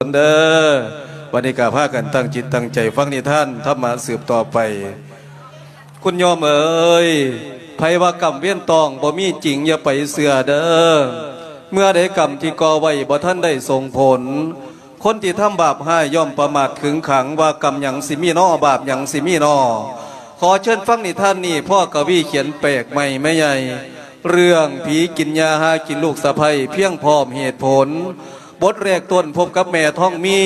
ນເດີ. ບັດນີ້ກໍພາກັນຕັ້ງຈິດຕັ້ງໃຈຟັງນິທານທຳມະສືບຕໍ່ໄປ. ຄຸນໂຍມເອີຍ, ໃຜວ່າກຳເວນຕ້ອງບໍ່ມີຈິງ ຢ່າໄປເຊື່ອເດີ. ເມື່ອໃດກຳທີ່ກໍ່ໄວ້ບໍ່ທັນໄດ້ສົ່ງຜົນ, ຄົນທີ່ທຳບາບຮ້າຍຍ່ອມປະໝາດຂຶງຂັງ ວ່າກຳຫຍັງຊິມີນໍ ບາບຫຍັງຊິມີນໍ. ຂໍເຊີນຟັງນິທານນີ້ ພໍ່ກະວີຂຽນແປກໃໝ່ແມ່ໃຫຍ່ ເລື່ອງຜີກິນຫຍ້າຫາກິນລູກສະໃພ້ ພຽງພ້ອມເຫດຜົນ. ບົດແລກຕົ້ນພົບກັບແມ່ທອງມີ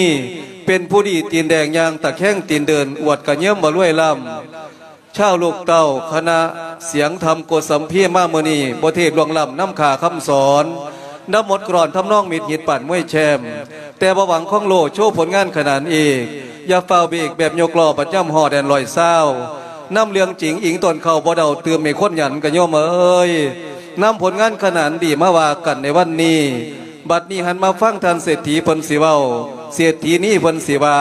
ເປັນຜູ້ດີຕີນແດງຍ່າງຕະແຄງຕີນເດີນ ອວດກະເຍິມວ່າລວຍລ້ຳ. ຊາວລູກເຕົ້າຄະນະສຽງທຳໂກສຳພີມາມື້ນີ້ ບໍ່ເທບລ່ວງລ້ຳນຳຂ້າຄຳສອນ ນຳໝົດກລອນທຳນອງມິດຮີດປານມວຍແຊມ ແຕ່ບໍ່ຫວັງຂອງໂລໂຊຜົນງານຂະໜານເອກ ຢ່າຟ້າວເບກແບບຍົກລໍ້ບັດຍາມຮອດແດນຮ້ອຍຊາວ ນຳເລື່ອງຈິງອີງຕົ້ນເຂົ້າບໍ່ເດົາ ຕື່ມໃຫ້ຄົນຫຍັນກະໂຍມເອີຍ ນຳຜົນງານຂະໜານດີມາວ່າກັນໃນວັນນີ້. ບັດນີ້ຫັນມາຟັງທ່ານເສດຖີເພິ່ນຊິເວົ້າ ເສດຖີນີ້ເພິ່ນຊິວ່າ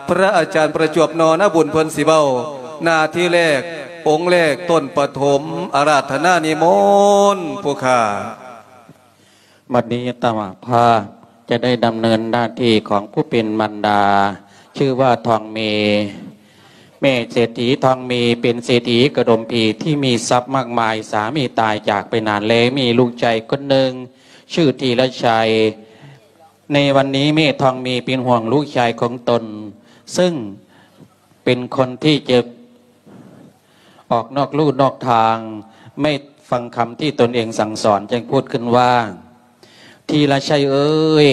ພະອາຈານປະຈວບ ນໍນະບຸນ ເພິ່ນຊິເວົ້າ. ໜ້າທີ່ແລກ ອົງແລກ ຕົ້ນປະຖົມ ອາລາທະນານິມົນຜູ້ຂ້າ. ບັດນີ້ອາດຕະມາພາບຈະໄດ້ດຳເນີນໜ້າທີ່ຂອງຜູ້ເປັນມານດາ ຊື່ວ່າທອງເມ. ແມ່ເສດຖີທອງເມເປັນເສດຖີກະດົມພີທີ່ມີຊັບມາກມາຍ, ສາມີຕາຍຈາກໄປນານແລ້ວ, ມີລູກຊາຍຄົນໜຶ່ງຊື່ທີລະໄຊ. ໃນວັນນີ້ແມ່ທອງເມເປັນຫ່ວງລູກຊາຍຂອງຕົນ ເຊິ່ງເປັນຄົນທີ່ຈະ ອອກນອກลู่ນອກທາງ, ໄມ່ຟັງຄຳທີ່ຕົນເອງສັ່ງສອນ ຈຶ່ງພູດຂຶ້ນວ່າ ທີລະໄຊເອີຍ,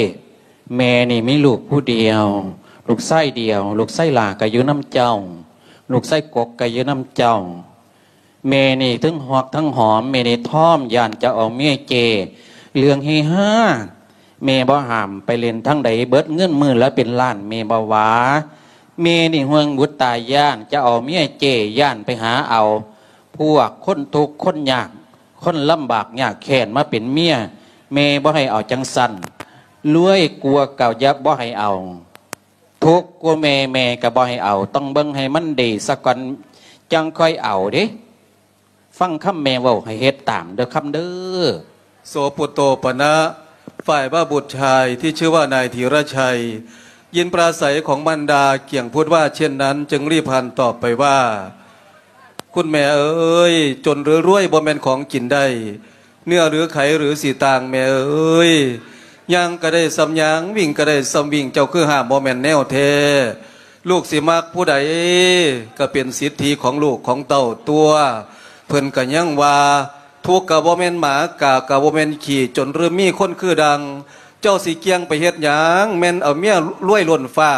ແມ່ນີ້ມີລູກຜູ້ດຽວ, ລູກຊາຍດຽວ, ລູກຊາຍຫຼ້າກໍຢູ່ນຳເຈົ້າ, ລູກຊາຍກົກກໍຢູ່ນຳເຈົ້າ. ແມ່ນີ້ທັງຮອກທັງຫອມ, ແມ່ນີ້ພ້ອມຢ້ານຈະເອົາເມຍເຈ້. ເລື່ອງເຮຮາ ແມ່ບໍ່ຫ້າມ, ໄປຫຼິ້ນທາງໃດເບິດເງິນມື້ລະເປັນລ້ານ ແມ່ບໍ່ວ່າ. ແມ່ນີ້ຫ່ວງບຸດຕາຢ້ານຈະເອົາເມຍເຈ້, ຢ້ານໄປຫາເອົາພວກຄົນທຸກຄົນຍາກ, ຄົນລຳບາກຍາກແຄ້ນມາເປັນເມຍ, ແມ່ບໍ່ໃຫ້ເອົາຈັ່ງຊັ້ນ. ລວຍກວ່າກໍຢ່າ ບໍ່ໃຫ້ເອົາ, ທຸກກວ່າແມ່, ແມ່ກໍບໍ່ໃຫ້ເອົາ. ຕ້ອງເບິ່ງໃຫ້ມັນດີສາກ່ອນ ຈັ່ງຄ່ອຍເອົາເດ້. ຟັງຄຳແມ່ເວົ້າໃຫ້ເຮັດຕາມເດີຄຳເດີ. ໂສປຸດໂຕປະນະ, ຝ່າຍວ່າບຸດຊາຍທີ່ຊື່ວ່ານາຍທີລະໄຊ ຍິນປາໄສຂອງມານດາກ່ຽງພູດວ່າເຊັ່ນນັ້ນ ຈຶ່ງລີບຫັນຕອບໄປວ່າ ຄຸນແມ່ເອີຍ, ຈົນຫຼືລວຍບໍ່ແມ່ນຂອງກິນໄດ້, ເນື້ອຫຼືໄຂຫຼືຊິຕ່າງແມ່ເອີຍ. ຍ່າງກໍໄດ້ສ່ຳຍ່າງ, ວິ່ງກໍໄດ້ສ່ຳວິ່ງ, ເຈົ້າຄືຫ້າມບໍ່ແມ່ນແນວແທ້. ລູກຊິມັກຜູ້ໃດກໍເປັນສິດທິຂອງລູກຂອງເຕົ້າຕົວະ. ເພິ່ນກໍຍັງວ່າ ທຸກກໍບໍ່ແມ່ນໝາ, ກາກໍບໍ່ແມ່ນຂີ້, ຈົນຫຼືມີຄົນຄືດັ່ງ. ເຈົ້າຊິກ່ຽງໄປເຮັດຫຍັງ? ແມ່ນເອົາເມຍລວຍລົ້ນຟ້າ,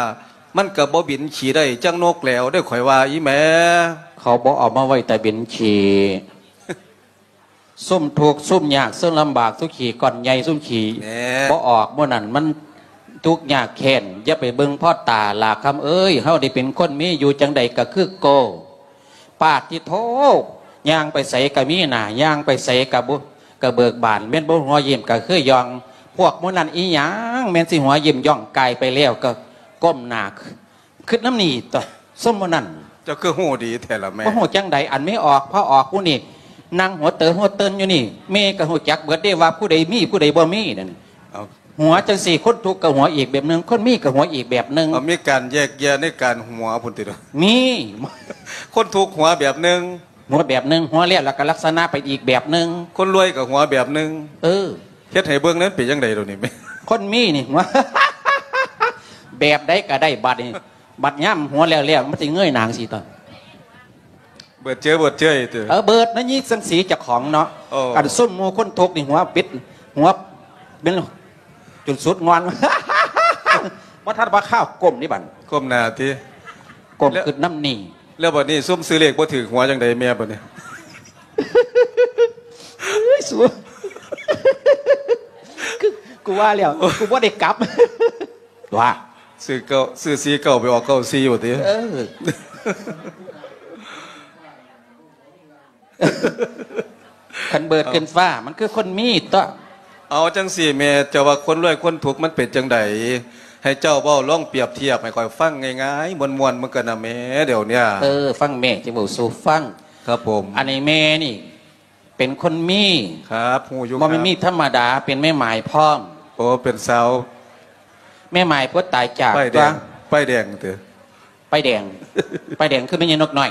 ມັນກໍບໍ່ບິນຂີ້ໄດ້ຈັກນົກແຫຼວເດີ້ ຂ້ອຍວ່າອີ່ແມ່. ເຂົາບໍ່ເອົາມາໄວ້ແຕ່ບິນຂີ້. ຊຸມທຸກຊຸມຍາກ ຊຸມລຳບາກ ຊຸມຂີ້ກ້ອນໃຫຍ່ ຊຸມຂີ້ ແມ່ ບໍ່ອອກມື້ນັ້ນ ມັນທຸກຍາກແຄ້ນ. ຢ່າໄປເບິ່ງພໍ້ຕາຫຼ້າຄຳເອີຍ, ເຮົາໄດ້ເປັນຄົນມີຢູ່ຈັ່ງໃດກໍຄືໂກ. ປາດຕິໂທ, ຍ່າງໄປໃສກໍມີໜ້າ, ຍ່າງໄປໃສກໍບໍ່ ກໍເບີກບານ, ແມ່ນບໍ່ຫົວຍິ້ມກໍຄືຢ່ອງ. ພວກໝູ່ນັ້ນອີຫຍັງ ແມ່ນຊິຫົວຍິ້ມ ຍ່ອງກາຍໄປແລ້ວກໍກົ້ມໜ້າ ຄິດນຳນີ້ຕົວະ ສົມມຸດນັ້ນ. ເຈົ້າຄືຮູ້ດີແທ້ລະແມ່? ບໍ່ຮູ້ຈັ່ງໃດ ອັນແມ່ອອກ ພາອອກຜູ້ນີ້ ນັ່ງຫົວເຕີຫົວເຕີນຢູ່ນີ້. ແມ່ກໍຮູ້ຈັກເບິດເດ້ວ່າຜູ້ໃດມີ ຜູ້ໃດບໍ່ມີນັ້ນ. ເອົາ ຫົວຈັ່ງຊີ້ ຄົນທຸກກໍຫົວອີກແບບໜຶ່ງ, ຄົນມີກໍຫົວອີກແບບໜຶ່ງ. ເອົາ ມີການແຍກແຍະໃນການຫົວພຸ້ນຕິ? ມີ. ຄົນທຸກຫົວແບບໜຶ່ງ ຫົວແບບໜຶ່ງ, ຫົວແລ້ວ ແລ້ວກໍລັກສະນະໄປອີກແບບໜຶ່ງ. ຄົນລວຍກໍຫົວແບບໜຶ່ງ. ເອີ. ເຮັດໃຫ້ເບິ່ງແດ່ ເປັນຈັ່ງໃດດຽວນີ້ແມ່? ຄົນມີນີ້ຫົວ ແບບໃດກໍໄດ້ບາດນີ້. ບັດຍາມຫົວແລ້ວໆ ມັນຊິເງີຍໜ້າຈັ່ງຊີ້ຕົວະ. ເບີດເຈີຍ ເບີດເຈີຍຕິ? ເອີ ເບີດນະຍິກສັງສີເຈົ້າຂອງເນາະ. ໂອ້ ອັນຊຸມໝູ່ຄົນທຸກນີ້ ຫົວປິດ ຫົວເປັນຈົນສຸດງອນ ບໍ່ທັນວ່າຄາວກົ້ມນີ້ບັດ ກົ້ມໜ້າຕິ? ກົ້ມ ແລ້ວ ຄິດນຳນີ້. ແລ້ວບັດນີ້ຊຸມຊື້ເລກບໍ່ຖືກຫົວຈັ່ງໃດແມ່ບັດນີ້? ເອີຍ ສູ ຄື ກູວ່າແລ້ວ ກູບໍ່ໄດ້ກັບ ວ່າ ຊື້ເກົ້າ ຊື້ສີ່ເກົ້າ ໄປອອກເກົ້າສີ່ ວ່າຕິ? ເອີ ຄັນເບີດຂຶ້ນຟ້າ ມັນຄືຄົນມີຕົວະ. ເອົາ ຈັ່ງຊີ້ແມ່ ເຈົ້າວ່າຄົນລວຍຄົນທຸກມັນເປັນຈັ່ງໃດ? ໃຫ້ເຈົ້າເວົ້າ ລອງປຽບທຽບໃຫ້ຂ້ອຍຟັງງ່າຍໆ ມ່ວນໆ ເບິ່ງກັນນະແມ່ ດຽວເນີ້ຍ. ເອີ ຟັງແມ່ຈະເວົ້າສູ່ຟັງ. ຄັບຜົມ. ອັນນີ້ແມ່ນີ້ ເປັນຄົນມີ. ຄັບ ຮູ້ຢູ່ ບໍ່ແມ່ນມີທຳມະດາ ເປັນແມ່ໝາຍພ້ອມ. ໂອ້ ເປັນສາວ ແມ່ໝ້າຍຜູ້ຕາຍຈາກ ປ້າຍແດງ ຕົວະ ປ້າຍແດງເຕີ ປ້າຍແດງ ປ້າຍແດງຄືແມ່ໃຫຍ່ນົກນ້ອຍ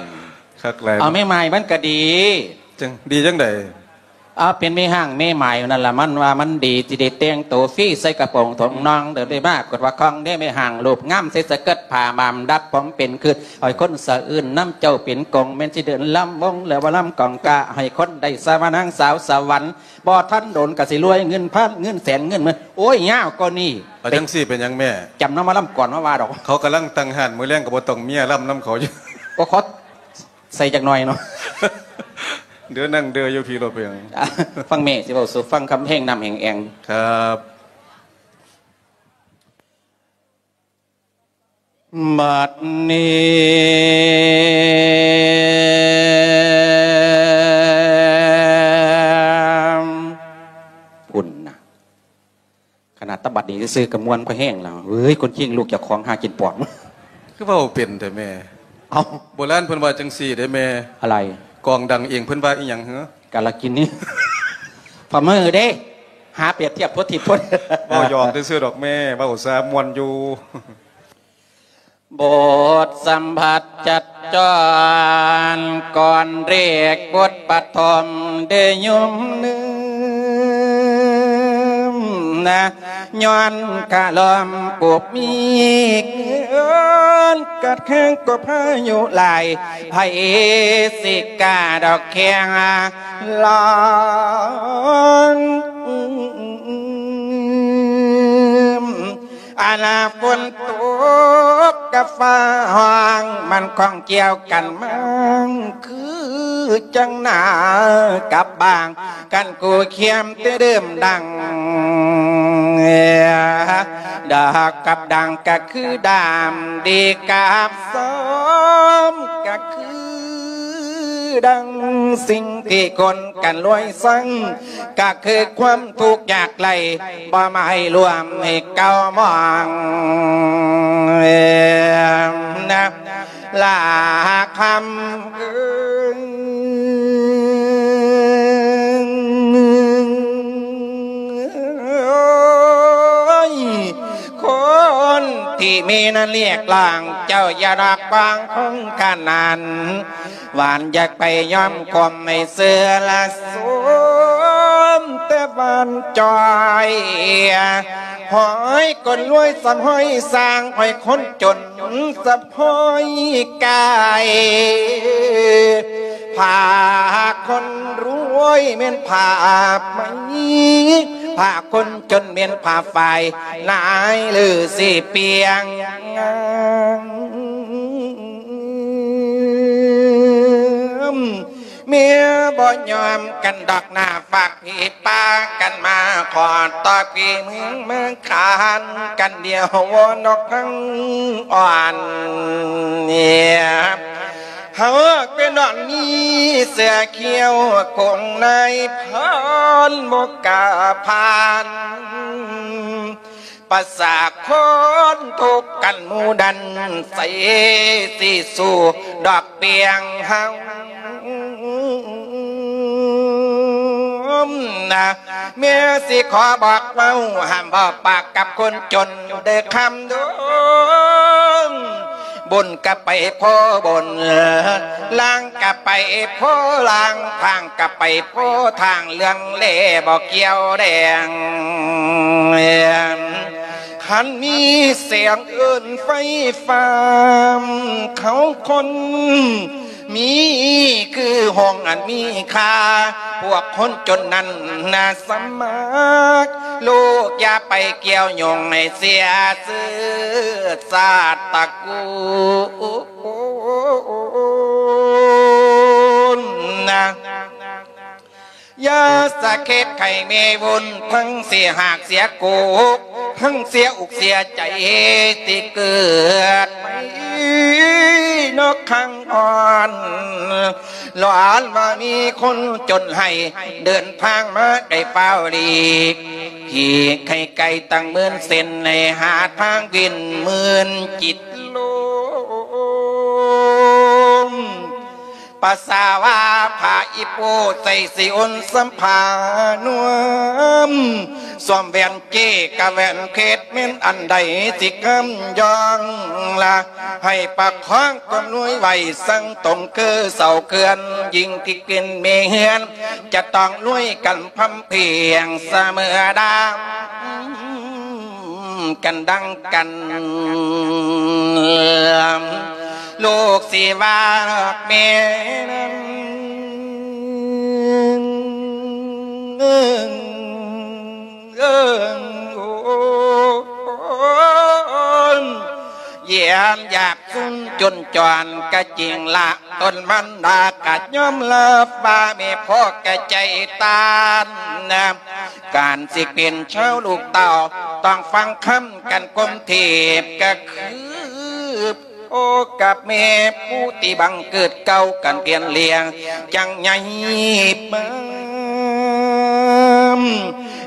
ຄັກຫຼາຍ ເອົາແມ່ໝ້າຍມັນກະດີ ຈັ່ງ ດີຈັ່ງໃດ? ເອົາ ເປັນແມ່ຮ້າງແມ່ໝ້າຍນັ້ນລະ ມັນວ່າມັນດີ ຊິໄດ້ແຕ່ງໂຕຟຣີ ໃສ່ກະໂປງຖົງນອງ ເດີນໄດ້ມາກົດວ່າຄອງເດ້ ແມ່ຮ້າງຮູບງາມ ໃສ່ສະເກີດຜ້າໝາມ ດັດຜົມເປັນຄືດ ໃຫ້ຄົນສະອື່ນນຳເຈົ້າເປັນກົງ ແມ່ນຊິເດີນລຳວົງ ແລ້ວວ່າລຳກອງກາ ໃຫ້ຄົນໄດ້ສະວ່ານາງສາວສະຫວັນ ບໍ່ທັນດົນກະຊິລວຍ ເງິນພັນເງິນແສນເງິນໝື່ນ ໂອ້ຍ ຍາວກວ່ານີ້ ເອົາຈັ່ງຊີ້ເປັນຫຍັງແມ່? ຈຳນຳວ່າລຳກ່ອນມາວ່າດອກ ເຂົາກຳລັງຕັ້ງຮ້ານ ມື້ແລງກໍບໍ່ຕ້ອງເມຍລຳນຳເຂົາຢູ່ ກໍຂໍໃສ່ຈັກໜ່ອຍເນາະ ເດີນັ່ງເດີຢູ່ພີ້ໂລດ ເປັນຫຍັງ? ຟັງແມ່ຊິເວົ້າສູ່ຟັງ ຄຳແຮງນ້ຳແຮງແອງ ຄັບ. ບັດນີ້ ພຸ້ນນະ ຂະໜາດແຕ່ບັດນີ້ຊື່ໆ ກະມ່ວນພໍແຮງແລ້ວ ເອີຍ ຄົນຄີງລູກເຈົ້າຂອງຫາກິນປອມ ຄືເວົ້າເປັນແທ້ແມ່? ເອົ້າ ໂບລານເພິ່ນວ່າຈັ່ງຊີ້ເດ້ແມ່ ອະໄລ? ກອງດັງເອງເພິ່ນວ່າອີ່ຫຍັງເຫືອ? ກາລະກິນນີ້ ພະເມີເດ້ ຫາປຽບທຽບໂພດທິດໂພດ ເວົ້າຢອກຊື່ໆດອກແມ່ ເວົ້າຊະມ່ວນຢູ່. ບົດສຳຜັດຈັດຈ້ອນ ກ່ອນເລກບົດປະຖົມ ໄດ້ຍົມນຶມນະ ຍ້ອນຄະລອມປຸບມີເກີນ ກັດແຂງກໍພາຍຸຫຼາຍ ໃຜຊິກ້າດອກແຂງລອນ ອັນຝົນຕົກກັບຟ້າຮ້ອງ ມັນຂ້ອງກ່ຽວກັນມາ ຄືຈັ່ງໜາກັບບາງ ກັນກູຄຽມແຕ່ເດີມດັງ ດອກກັບດັງກະຄືດາມ ດີກັບຊອມກະຄືດັງ ສິ່ງທີ່ຄົນກັນລວຍຊັງ ກະຄືຄວາມທຸກຍາກໄຮ້ ບໍ່ໝາຍລວມໃຫ້ເກົ້າມອງນະ ລາຄຳເອີຍ ຄົນທີ່ມີນັ້ນລຽກລ້ອງ ເຈົ້າຢ່າດອກບອງຄົງຂະໜານ ຫວານຢາກໄປຍອມຄວາມໃຫ້ເຊື່ອລະສົມແຕ່ບ້ານຈອຍ ຫ້ອຍຄົນລວຍສຳຫ້ອຍສ້າງ ຫ້ອຍຄົນຈົນສຳຫ້ອຍກາຍ ຜ້າຄົນລວຍແມ່ນຜ້າໄໝ ຜ້າຄົນຈົນແມ່ນຜ້າຝ້າຍ ນາຍລືສີປ່ຽງງາມ ເມຍບໍ່ຍອມກັນດອກໜ້າຝາກ ພີ່ປາກັນມາຂໍຕໍ່ພີ່ເມືອງເມືອງຄານກັນ ດຽວວອນນອກທັງອ່ອນເນຍ ຫາກເປັນດອນມີເສືອຂຽວ ຄົງນາຍພານບໍ່ກ້າຜ່ານ ປະສາຄົນທຸກກັນໝູ່ດັນ ໃສຊິສູ້ດອກປຽງເຮົານະ ແມ່ຊິຂໍບອກເວົ້າ ຫ້າມເວົ້າປາກກັບຄົນຈົນເດີຄຳດົງ ບຸນກະໄປໂພບຸນ ລາງກະໄປໂພລາງ ທາງກະໄປໂພທາງ ເລື່ອງແລບໍ່ກ່ຽວແດງ ຄັນມີແສງເອີ້ນໄຟຟ້າ ເຂົາຄົນມີຄືຫ້ອງອັນມີຄ່າ ພວກຄົນຈົນນັ້ນນະສະໝັກ ລູກຢ່າໄປກ່ຽວຫຍຸ້ງໃຫ້ເສຍຊື່ຊາດຕະກູນນະ. ຢ່າສະເຂັດໃຫ້ແມ່ວຸ້ນ ທັງເສຍຫາກເສຍໂກກ ທັງເສຍອົກເສຍໃຈ ທີ່ເກີດໃໝ່ນອກຄັ້ງອ່ອນ ຫຼອນວ່າມີຄົນຈົນໃຫ້ ເດີນທາງມາໄກຟ້າວຫຼີກ ທີ່ໄກໆຕັ້ງໝື່ນເສັ້ນ ໃຫ້ຫາທາງວິນໝື່ນຈິດລົມ ປາສາວາພາອີໂປໃສ່ຊິອຸ່ນສຳພານວມ ສວມແຫວນເຈກະແຫວນເພັດ ແມ່ນອັນໃດຊິກຳຍ້ອງລະ ໃຫ້ປະຄອງຄວາມລວຍໄວ້ ສັງຕົງຄືເສົາເຂື່ອນ ຍິ່ງທີ່ຂຶ້ນມີເຮືອນ ຈະຕ້ອງລວຍກັນພຳພຽງສະເໝີດາ ກັນດັ່ງກັນ ລູກຊິວ່າແມ່ນ ເອີ ໂອ້ ຢ້ານຢາກຊຸນຈົນຈອນກະຈິງລະ ຕົນມັນດາກະຍອມຮັບວ່າແມ່ພໍ່ກະໃຈຕ່ານນະ ການຊິເປັນຊາວລູກເຕົ້າ ຕ້ອງຟັງຄຳກັນກົມເທບກະຄື ໂອ້ ກັບແມ່ຜູ້ທີ່ບັງເກີດເກົ່າກັນກຽນລ້ຽງ ຈັ່ງໃຫຍ່ມາ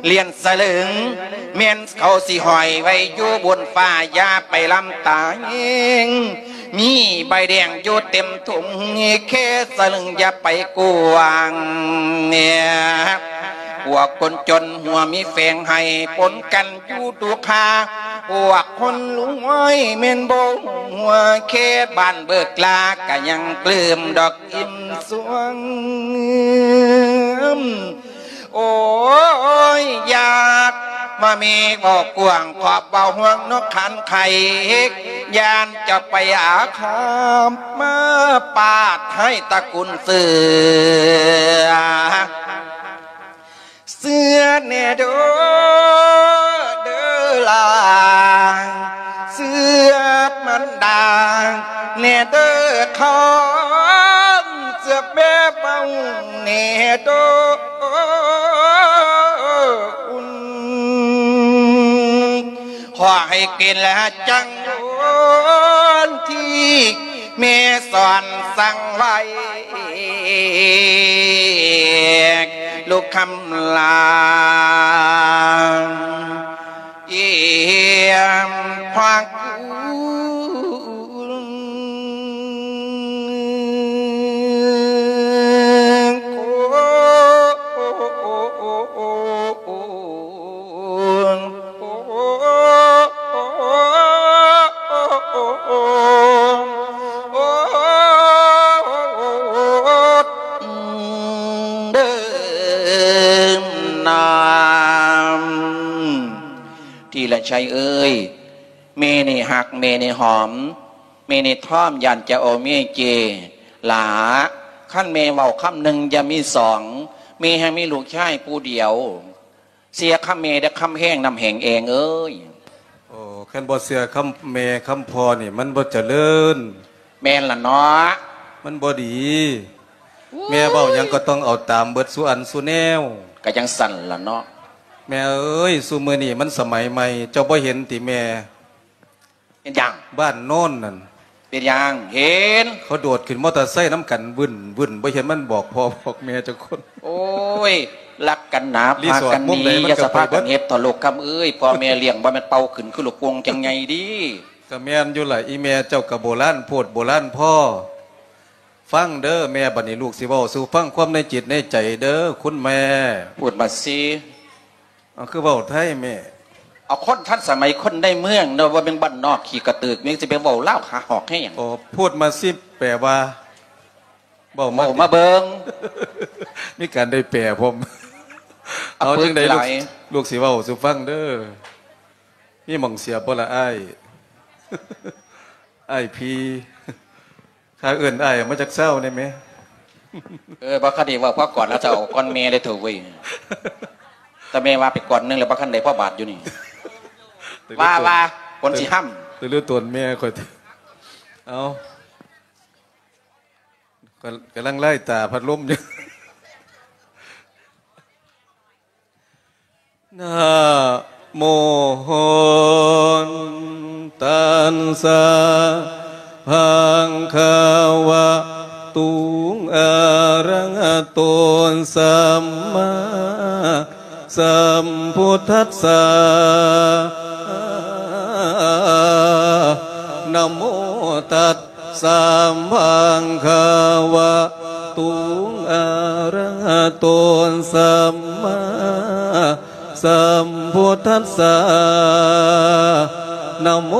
ລ້ຽນສະເຫຼີງ ແມ່ນເຂົາຊິຫ້ອຍໄວ້ຢູ່ບົນຟ້າ ຢ່າໄປລຳຕາເອງ ມີໃບແດງຢູ່ເຕັມຖົງ ແຄ່ສະເຫຼີງຢ່າໄປກວາງ ເນຍ ພວກຄົນຈົນຫົວມີແຝງໃຫ້ປົນກັນ ຢູ່ດຸກຄາ ພວກຄົນລວຍແມ່ນບໍ່ຫົວ ແຄ່ບ້ານເບີກລາກະຍັງປຶ້ມດອກອີ່ມສວງ ໂອ້ຍ ຢາກມາມີເວົ້າກວ້າງ ຂອບເວົ້າຫ່ວງນອກຄັນໄຂ່ ຢ້ານຈະໄປອາຄາມ ມາປາດໃຫ້ຕະກຸນເສືອ ເຊື່ອແດ່ເດີ ເດີຫຼານ ເຊື່ອມັນດາແດ່ເດີຄອນ ເຊື່ອແມ່ເວົ້າແດ່ເດີ ຂໍໃຫ້ເປັນແລະຈັ່ງໂດນທີ່ ແມ່ສອນສັ່ງໄວ້ ລູກຄຳລາ ອຽມພາກ ທີ່ລະໄຊເອີຍ ແມ່ນີ້ຮັກ ແມ່ນີ້ຫອມ ແມ່ນີ້ທອມ ຢ້ານຈະເອົາເມຍເຈ ຫຼ້າ ຄັນແມ່ເວົ້າຄຳໜຶ່ງຢ່າມີສອງ ແມ່ແຮ່ງມີລູກຊາຍຜູ້ດຽວ ເຊື່ອຄຳແມ່ເດີ ຄຳແຮງນຳແຮງແອງເອີຍ. ໂອ້ ຄັນບໍ່ເຊື່ອຄຳແມ່ຄຳພໍ່ນີ້ ມັນບໍ່ຈະເລີນ. ແມ່ນລະເນາະ ມັນບໍ່ດີ. ໂອ້ຍ ແມ່ເວົ້າຫຍັງກໍຕ້ອງເອົາຕາມເບິດສູ່ອັນສູ່ແນວ. ກະຈັ່ງຊັ້ນລະເນາະ. ແມ່ເອີຍ ຊຸມື້ນີ້ມັນສະໄໝໃໝ່ ເຈົ້າບໍ່ເຫັນຕິແມ່? ເປັນຫຍັງ? ບ້ານໂນ້ນນັ້ນ. ເປັນຫຍັງ? ເຫັນ ເຂົາໂດດຂຶ້ນມໍເຕີໄຊນຳກັນວຶ້ນໆ ບໍ່ເຫັນມັນບອກພໍ່ບອກແມ່ຈັກຄົນ. ໂອ້ຍ ລັກກັນໜາ ພາກັນໜີ ຢ່າສະພາກັນເຮັດເຖາະລູກຄຳເອີຍ ພໍ່ແມ່ລ້ຽງບໍ່ແມ່ນເປົ່າຂຶ້ນຄືລູກໂປ່ງຈັ່ງໃຫຍ່ເດ. ກະແມ່ນຢູ່ລະ ອີແມ່ເຈົ້າກະໂບລານໂພດໂບລານພໍ. ຟັງເດີແມ່ ບາດນີ້ລູກຊິເວົ້າສູ່ຟັງຄວາມໃນຈິດໃນໃຈເດີຄຸນແມ່. ພູດມາຊິ. ເອົາ ຄືເວົ້າໄທແມ່? ເອົາ ຄົນທັນສະໄໝ ຄົນໃນເມືອງເນາະ ບໍ່ແມ່ນບ້ານນອກຂີ້ກະເຕີກ ແມ່ຊິໄປເວົ້າລາວຫາຫອກແຮງຫຍັງ? ໂອ້ ພູດມາຊິ ແປວ່າ ເວົ້າມາ ເວົ້າມາເບິ່ງ. ມີການໄດ້ແປພ້ອມ. ເອົາ ເອົາ ຈັ່ງໃດລູກ ລູກຊິເວົ້າສູ່ຟັງເດີ. ມີໝ່ອງເສຍບໍ່ລະອ້າຍ? ອ້າຍພີ ຂ້າເອີ້ນອ້າຍອອກມາຈັກຊາວແດ່ແມ. ເອີ ບໍ່ຄັນໄດ້ເວົ້າພໍກ່ອນລະ ເຈົ້າເອົາກ່ອນແມ່ເລີຍເຖົ້າເວີຍ. ແຕ່ແມ່ວ່າໄປກ່ອນໜຶ່ງແລ້ວ ບໍ່ຄັນໄດ້ພໍບາດຢູ່ນີ້. ວ່າ ວ່າ ຄົນຊິຫ້ຳ ແຕ່ເລື່ອງຕົນແມ່ຂ້ອຍ. ເອົາ ກຳລັງໄລ່ຕາພັດລົມຢູ່. ນະໂມຕັດສະ ພະຄະວະໂຕ ອະຣະຫະໂຕ ສຳມາສຳພຸດທັດສະ. ນະໂມຕັດ ສະ ພະຄະວະໂຕ ອະຣະຫະໂຕ ສຳມາ ສຳພຸດທັດສະ ນະໂມ